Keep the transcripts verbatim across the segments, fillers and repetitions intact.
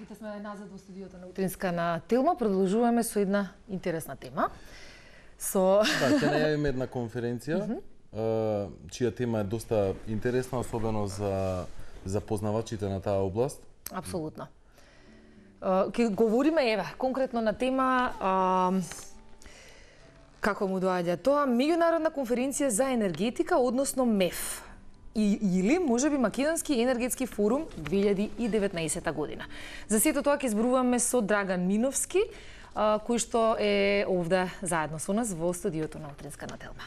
ете сме назад во студиото на Утринска на Телма, продолжуваме со една интересна тема. Со Да, ќе најавиме една конференција, mm -hmm. чија тема е доста интересна, особено за за познавачите на таа област. Апсолутно. Ќе говориме еве конкретно на тема а, како му доаѓа тоа, меѓународна конференција за енергетика, односно МЕФ. И, или можеби Македонски енергетски форум две илјади и деветнаесетта година. За сето тоа ќе зборуваме со Драган Миновски, а, кој што е овде заедно со нас во студиото на Утринска на Телма.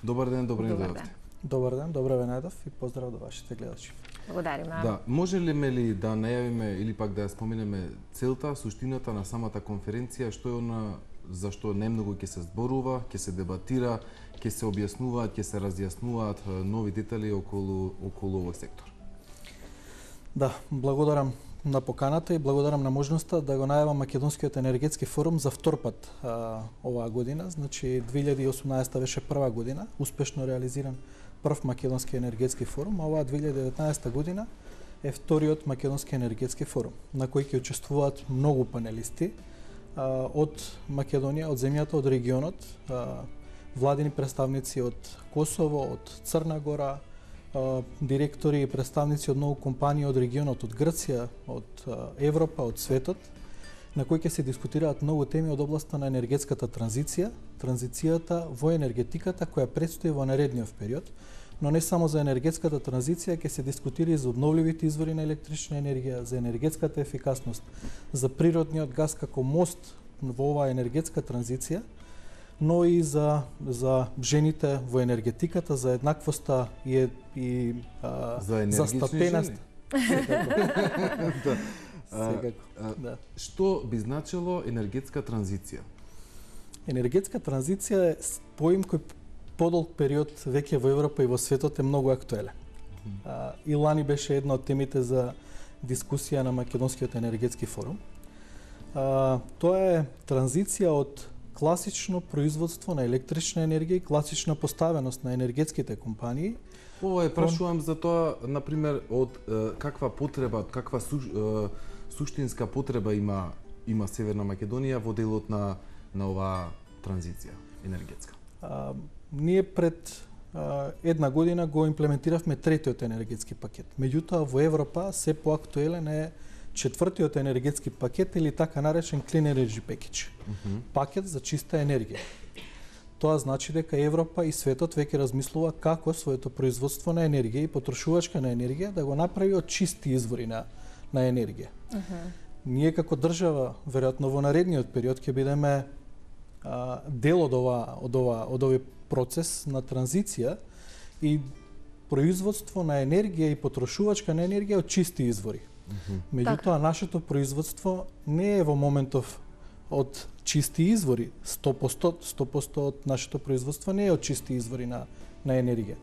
Добар ден, добро ни Добар ден. Добар ден, добро ве најдов и поздрав до вашите гледачи. Благодариме. Да, може ли ме ли да најавиме или пак да ја споменеме целта, суштината на самата конференција, што е она за што најмногу ќе се зборува, ќе се дебатира, ќе се објаснуваат, ќе се разјаснуваат нови детали околу околу овој сектор? Да, благодарам на поканата и благодарам на можноста да го најавам Македонскиот енергетски форум за втор пат а, оваа година. Значи две илјади и осумнаесетта беше прва година, успешно реализиран прв Македонски енергетски форум, а оваа две илјади и деветнаесетта година е вториот Македонски енергетски форум, на кој ќе учествуваат многу панелисти а, од Македонија, од земјата, од регионот, а, владини представници од Косово, од Црна Гора, директори и представници од многу компании од регионот, од Грција, од Европа, од светот, на кои ќе се дискутираат многу теми од областа на енергетската транзиција, транзицијата во енергетиката која предстои во наредниот период, но не само за енергетската транзиција, ќе се дискутира и за обновливите извори на електрична енергија, за енергетската ефикасност, за природниот газ како мост во оваа енергетска транзиција, но и за за жените во енергетиката, за еднаквоста и и а, за, за стапеност. Да. Секако. А, Да. Што би значило енергетска транзиција? Енергетска транзиција е поим кој подолг период веќе во Европа и во светот е многу актуелен. А, и лани беше една од темите за дискусија на Македонскиот енергетски форум. А, тоа е транзиција од класично производство на електрична енергија и класична поставеност на енергетските компании. Ова е прашувам за тоа, на пример, од е, каква потреба, каква су, е, суштинска потреба има има Северна Македонија во делот на на оваа транзиција енергетска. А, ние пред а, една година го имплементиравме третиот енергетски пакет. Меѓутоа во Европа се поактуелен е четвртиот енергетски пакет или така наречен Clean Energy Package. Mm-hmm. Пакет за чиста енергија. Тоа значи дека Европа и светот веќе размислува како своето производство на енергија и потрошувачка на енергија да го направи од чисти извори на на енергија. Uh-huh. Ние како држава, веројатно во наредниот период ќе бидеме а, дел од ова од ова од овој процес на транзиција и производство на енергија и потрошувачка на енергија од чисти извори. Mm-hmm. Меѓутоа, нашето производство не е во моментов од чисти извори. сто проценти од нашето производство не е од чисти извори на, на енергија.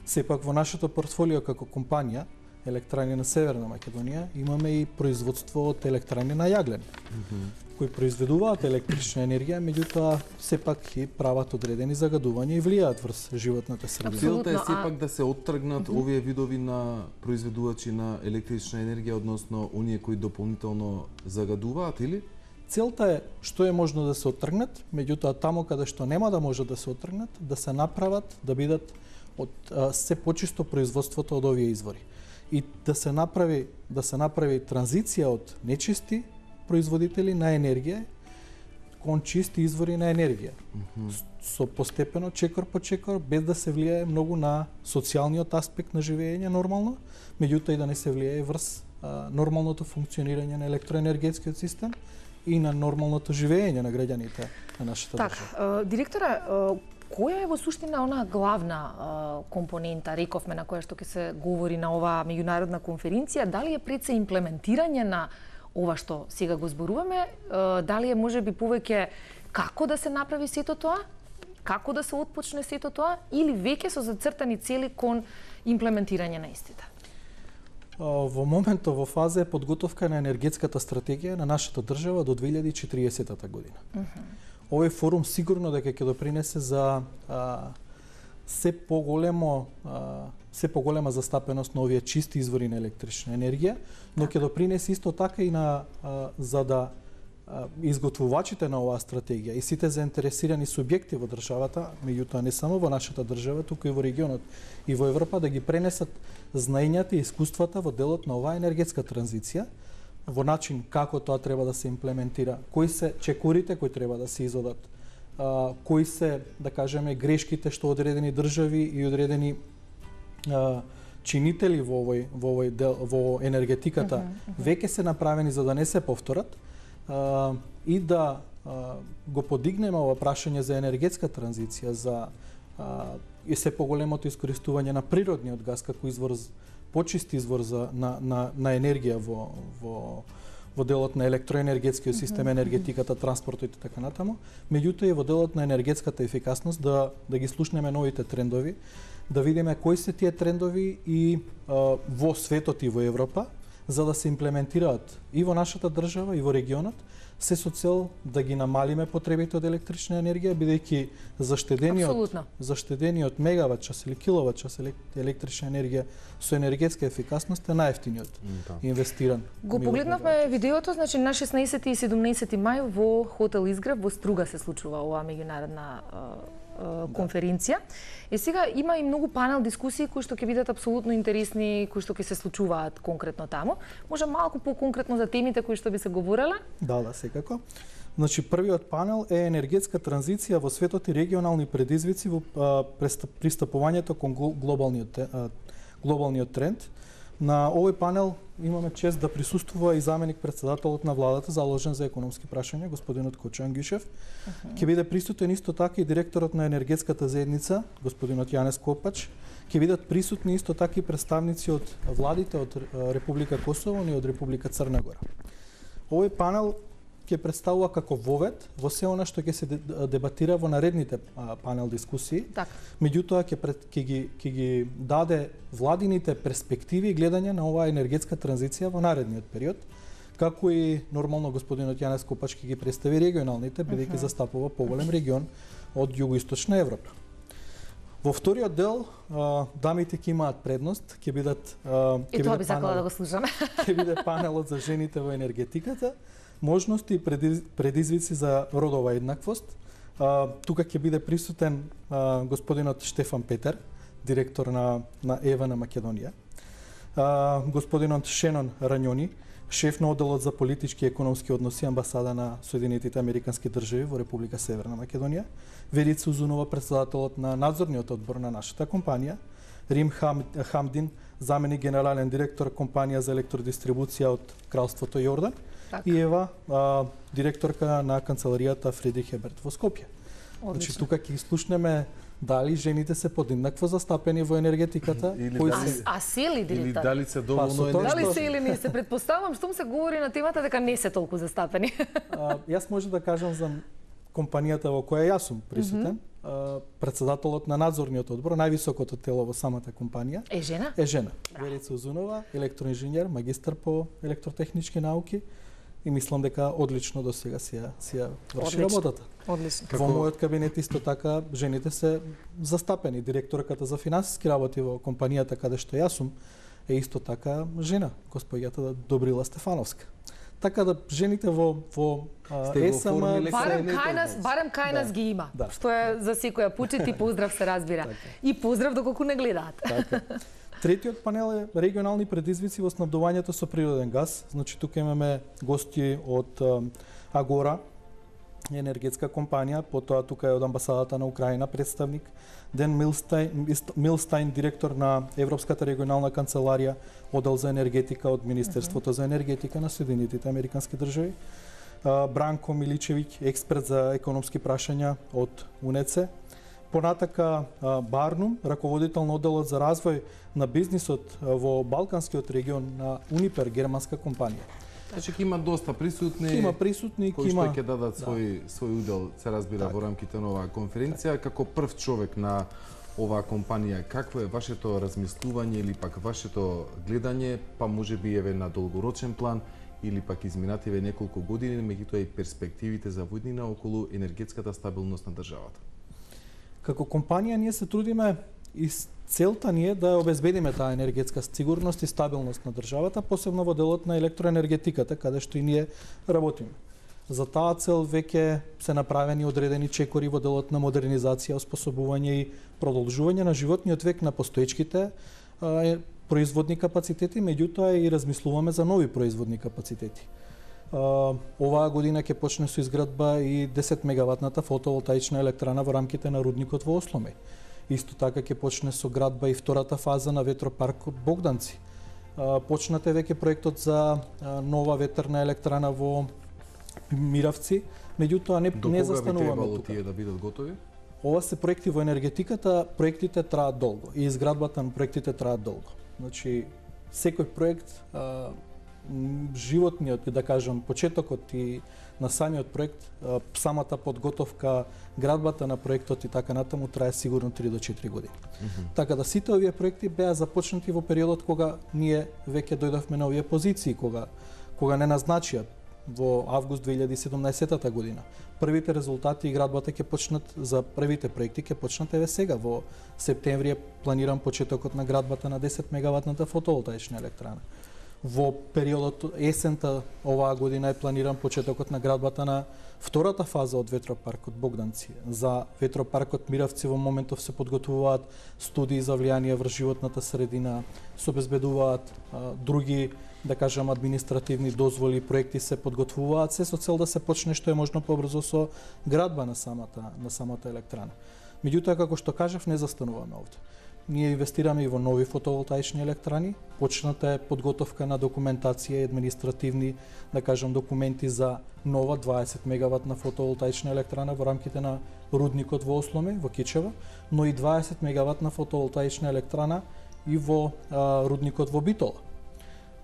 Сепак во нашето портфолио како компанија, Електрани на Северна Македонија, имаме и производство од електрани на јаглен, Mm-hmm. кои произведуваат електрична енергија, меѓутоа сепак и прават одредени загадувања и влијаат врз животната средина. Целта е Апсолутно, сепак да се оттргнат Mm-hmm. овие видови на произведувачи на електрична енергија, односно оние кои дополнително загадуваат, или? Целта е што е можно да се оттргнат, меѓутоа таму каде што нема да може да се оттргнат, да се направат, да бидат од а, се почисто производството од овие извори. И да се направи да се направи транзиција од нечисти производители на енергија кон чисти извори на енергија. Mm-hmm. Со постепено, чекор по чекор, без да се влијае многу на социјалниот аспект на живење нормално, меѓутоа и да не се влијае врз а, нормалното функционирање на електроенергетскиот систем и на нормалното живење на граѓаните на нашата Така, држава. директора, која е во суштина она главна компонента, рековме, на која што ќе се говори на оваа меѓународна конференција? Дали е пред се имплементирање на ова што сега го зборуваме? Дали е можеби повеќе како да се направи сето тоа? Како да се отпочне сето тоа? Или веќе со зацртани цели кон имплементирање на истите? Во моментот во фаза е подготовка на енергетската стратегија на нашата држава до две илјади и четириесетта година. Uh-huh. Овој форум сигурно дека ќе допринесе за а, се поголемо се поголема застапеност на овие чисти извори на електрична енергија, но ќе допринесе исто така и на за да изготвувачите на оваа стратегија и сите заинтересирани субјекти во државата, меѓутоа не само во нашата држава, туку и во регионот и во Европа, да ги пренесат знаењата и искуствата во делот на оваа енергетска транзиција, во начин како тоа треба да се имплементира, кои се чекорите кои треба да се изодат, а, кои се, да кажеме, грешките што одредени држави и одредени а, чинители во овој во овој дел во енергетиката uh -huh, uh -huh. веќе се направени за да не се повторат, а, и да а, го подигнеме ова прашање за енергетска транзиција, за а, и се поголемото искористување на природниот газ како извор, почист извор за, на, на, на енергија во, во, во делот на електроенергетскиот систем, енергетиката, транспортот и така натаму, меѓутоа и во делот на енергетската ефикасност да, да ги слушнеме новите трендови, да видиме кои се тие трендови и а, во светот и во Европа, за да се имплементираат и во нашата држава и во регионот, се со цел да ги намалиме потребите од електрична енергија, бидејќи заштедениот заштедениот мегават час или киловат час електрична енергија со енергетска ефикасност е најевтиниот да. инвестиран. Го погледнавме видеото, значи на шеснаесети и седумнаесети мај во хотел Изгрев во Струга се случува оваа меѓународна конференција. И сега има и многу панел дискусии кои што ќе бидат апсолутно интересни, кои што ќе се случуваат конкретно таму. Може малку по-конкретно за темите кои што би се говореле? Да, да, секако. Значи првиот панел е енергетска транзиција во светот и регионални предизвици во пристапувањето кон глобалниот глобалниот тренд. На овој панел имаме чест да присуствува и заменик председателот на владата заложен за економски прашања, господинот Кочо Ангјушев. Uh-huh. Ќе биде присутен исто така и директорот на енергетската заедница, господинот Јанес Копач. Ќе бидат присутни исто така и представници од владите од Република Косово и од Република Црна Гора. Овој панел ќе представува како вовед во се она што ќе се дебатира во наредните панел дискусии. Така. Меѓутоа ќе ќе ги ќе ги даде владините перспективи и гледање на оваа енергетска транзиција во наредниот период, како и нормално господинот Јанес Копач ќе ги представи регионалните, бидејќи uh-huh. застапува поголем регион од југоисточна Европа. Во вториот дел дамите ќе имаат предност, ќе бидат ќе биде панел, да го слушаме. Ќе биде панелот за жените во енергетиката, можности и предизвици за родова еднаквост. А, тука ќе биде присутен а, господинот Штефан Петер, директор на, на ЕВА на Македонија. А, господинот Шенон Ранјони, шеф на одделот за политички и економски односи амбасада на Соединетите Американски држави во Република Северна Македонија. Верица Узунова, председателот на надзорниот одбор на нашата компанија. Рим Хам, Хамдин, заменик генерален директор компанија за електродистрибуција од Кралството Јордан. Так. И Ева, а, директорка на канцеларијата Фридрих Еберт во Скопје. Значи тука ќе слушнеме дали жените се подеднакво застапени во енергетиката, кои се а, а се ли или дали се доволно па, дали се или не се предпоставам што се говори на темата дека не се толку застапени. А, јас може да кажам за компанијата во која јас сум присутен. Mm-hmm. Uh, председателот на надзорниот одбор, највисокото тело во самата компанија. Е жена? Е жена. Верица Узунова, електроинженер, магистар по електротехнички науки и мислам дека одлично до сега си ја, си ја врши работата. Одлично. Во мојот кабинет исто така жените се застапени. Директорката за финансиски работи во компанијата каде што јас сум е исто така жена, госпоѓата Добрила Стефановска. Така да жените во во ЕСМ барем кај нас, барем кај нас ги има. Да. Што е за секоја почит и поздрав се разбира. Така. И поздрав доколку не гледаат. Така. Третиот панел е регионални предизвици во снабдувањето со природен газ. Значи тука имаме гости од Агора, енергетска компанија, потоа тука е од амбасадата на Украина представник, Ден Милстайн, Милстайн, директор на Европската регионална канцеларија, оддел за енергетика од Министерството uh-huh. за енергетика на Соединетите Американски држави, Бранко Миличевиќ, експерт за економски прашања од УНЕЦЕ, понатака Барнум, раководител на одделот за развој на бизнисот во Балканскиот регион на Унипер, германска компанија. Значи ќе има доста присутни. Има присутни, кои има што ќе дадат свој да. свој удел, се разбира так. во рамките на оваа конференција. Так. Како прв човек на оваа компанија, какво е вашето размислување или пак вашето гледање, па можеби еве на долгорочен план или пак изминативе неколку години, меѓутоа и перспективите за воднина околу енергетската стабилност на државата? Како компанија ние се трудиме и целта ни е да обезбедиме таа енергетска сигурност и стабилност на државата, посебно во делот на електроенергетиката, каде што и ние работиме. За таа цел веќе се направени одредени чекори во делот на модернизација, оспособување и продолжување на животниот век на постоечките а, производни капацитети, меѓутоа и размислуваме за нови производни капацитети. А, оваа година ќе почне со изградба и десет мегаватната фотоволтаична електрана во рамките на рудникот во Осломе. Исто така ќе почне со градба и втората фаза на ветропаркот Богданци. А, почнат е веќе проектот за а, нова ветерна електрана во Миравци, меѓутоа не, не застануваме тука. Тие да бидат готови? Ова се проекти во енергетиката, проектите траат долго и изградбата на проектите траат долго. Значи, секој проект, а, животниот, да кажам, почетокот и на самиот проект, а, самата подготовка, градбата на проектот и така натаму трае сигурно три до четири години. Mm -hmm. Така да сите овие проекти беа започнати во периодот кога ние веќе дојдовме на овие позиции, кога кога не назначија во август две илјади и седумнаесетта година. Првите резултати и градбата ќе почнат за првите проекти ќе почнат еве сега во септември е планиран почетокот на градбата на десет мегаватната фотоволтаична електрана. Во периодот есента оваа година е планиран почетокот на градбата на втората фаза од ветропаркот Богданци. За ветропаркот Миравци во моментов се подготвуваат студии за влијание врз животната средина, се обезбедуваат а, други, да кажам, административни дозволи, проекти се подготвуваат, се со цел да се почне што е можно побрзо со градба на самата на самата електрана. Меѓутоа, како што кажав, не застануваме овде. Ние инвестираме и во нови фотоволтаични електрани, почната е подготовка на документација и административни, да кажам, документи за нова дваесет мегаватна фотоволтаична електрана во рамките на рудникот во Осломе, во Кичево, но и дваесет мегаватна фотоволтаична електрана и во а, рудникот во Битола.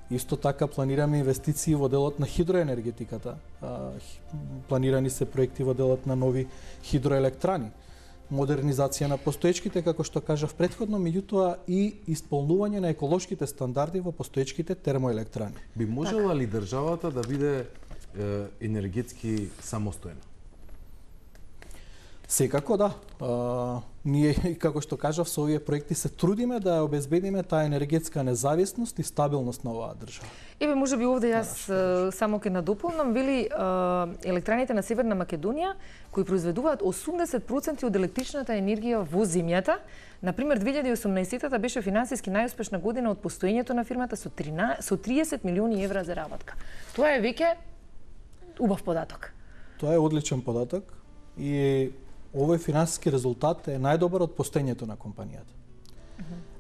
Исто така планираме инвестиции во делот на хидроенергетиката. А, планирани се проекти во делот на нови хидроелектрани, модернизација на постоечките, како што кажав претходно, меѓутоа и исполнување на еколошките стандарди во постоечките термоелектрани. Би можела ли државата да биде е, енергетски самостојна? Секако да. А, ние, како што кажав, со овие проекти се трудиме да ја обезбедиме таа енергетска независност и стабилност на оваа држава. Еве, може би овде јас само ќе надополнам, вели електраните на Северна Македонија кои произведуваат осумдесет проценти од електричната енергија во земјата. Например, две илјади и осумнаесетта беше финансиски најуспешна година од постоењето на фирмата со со триесет милиони евра заработка. Тоа е веќе убав податок. Тоа е одличен податок и овој финансиски резултат е најдобар од постоењето на компанијата.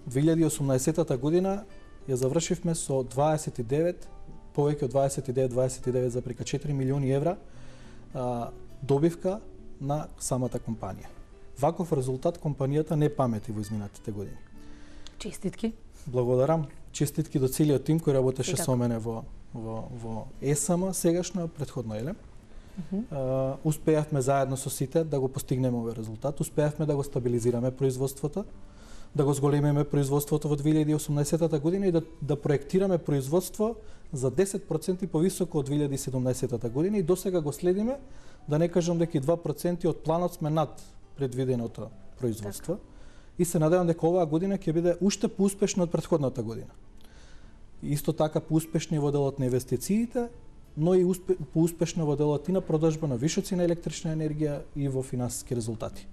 две илјади и осумнаесетта година ја завршивме со дваесет и девет, повеќе од дваесет и девет, дваесет и девет запирка четири милиони евра а, добивка на самата компанија. Ваков резултат компанијата не памети во изминатите години. Честитки. Благодарам. Честитки до целиот тим кој работеше со мене во во во ЕСМ сегашно, претходно еле. Uh-huh. Uh, успеавме заедно со сите да го постигнеме овој резултат, успеавме да го стабилизираме производството, да го зголемиме производството во две илјади и осумнаесетта година и да, да проектираме производство за десет проценти повисоко од две илјади и седумнаесетта година и досега го следиме, да не кажам дека и два проценти од планот сме над предвиденото производство. Так. И се надевам дека оваа година ќе биде уште поуспешна од претходната година. Исто така поуспешни во делот на инвестициите, но и успе, поуспешна во делот и на продажба на вишоци на електрична енергија и во финансиски резултати.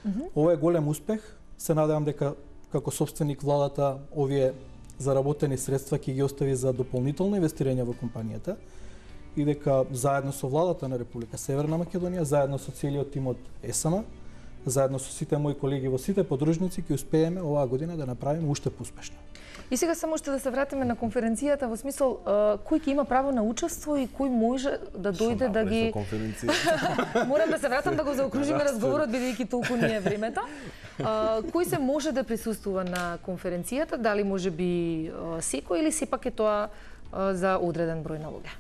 Mm-hmm. Ова е голем успех. Се надевам дека како собственик владата овие заработени средства ќе ги остави за дополнително инвестирање во компанијата и дека заедно со владата на Република Северна Македонија, заедно со целиот тим од ЕСМ, заедно со сите мои колеги во сите подружници ќе успееме оваа година да направиме уште поуспешно. И сега само уште да се вратиме на конференцијата во смисол кој ќе има право на учество и кој може да дојде да ги Морам да се вратам да го заокружиме разговорот бидејќи толку ни е времето. Кој се може да присуствува на конференцијата? Дали може би секој или сепак е тоа за одреден број на луѓе?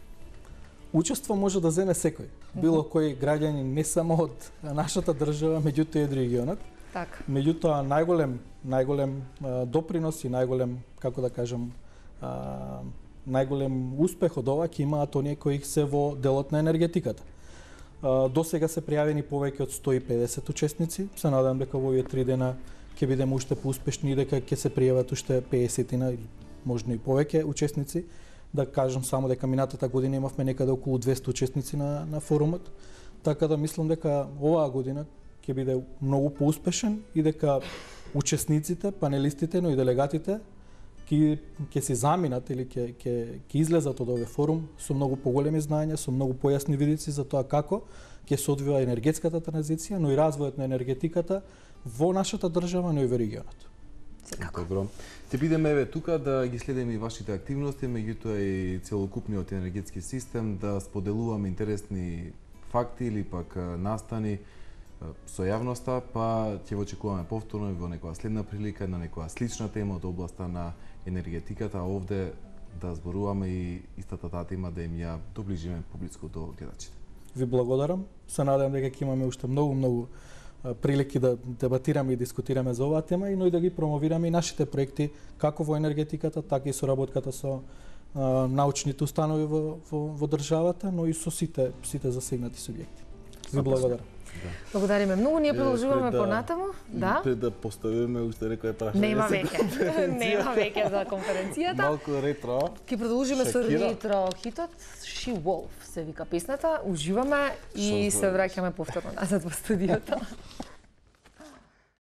Учество може да земе секој, било кој граѓанин, не само од нашата држава, меѓутоа и од регионот. Така. Меѓутоа најголем најголем а, допринос и најголем, како да кажам, а, најголем успех од ова ќе имаат оние кои се во делот на енергетиката. До сега се пријавени повеќе од сто и педесет учесници. Се надам дека во овие три дена ќе бидеме уште поуспешни и дека ќе се пријават уште педесетина или можно и повеќе учесници. Да кажам само дека минатата година имавме некаде околу двесте учесници на, на форумот, така да мислам дека оваа година ќе биде многу поуспешен и дека учесниците, панелистите, но и делегатите ќе ќе се заминат или ќе ќе ќе излезат од овој форум со многу поголеми знаења, со многу појасни видици за тоа како ќе се одвива енергетската транзиција, но и развојот на енергетиката во нашата држава, но и во регионот. Добро. Ќе бидеме еве тука да ги следиме и вашите активности, меѓутоа и целокупниот енергетски систем, да споделуваме интересни факти или пак настани со јавноста, па ќе го очекуваме повторно во некоја следна прилика на некоја слична тема од областа на енергетиката, а овде да зборуваме и истата таа тема да им ја доближиме публичко до гледачите. Ви благодарам. Се надевам дека ќе имаме уште многу многу прилики да дебатираме и дискутираме за оваа тема, но и да ги промовираме и нашите проекти како во енергетиката, така и соработката со а, научните установи во, во, во државата, но и со сите сите засегнати субјекти. Ви благодарам. Да. Благодариме многу, ние продолжуваме да, понатаму. Да? Пред да поставиме уште некој прашање. Нема веќе. Нема веќе за конференцијата. Малку ретро. Ќе продолжиме со Шакира. ретро хитот She Wolf се вика песната. Уживаме и се враќаме повторно назад во студиото.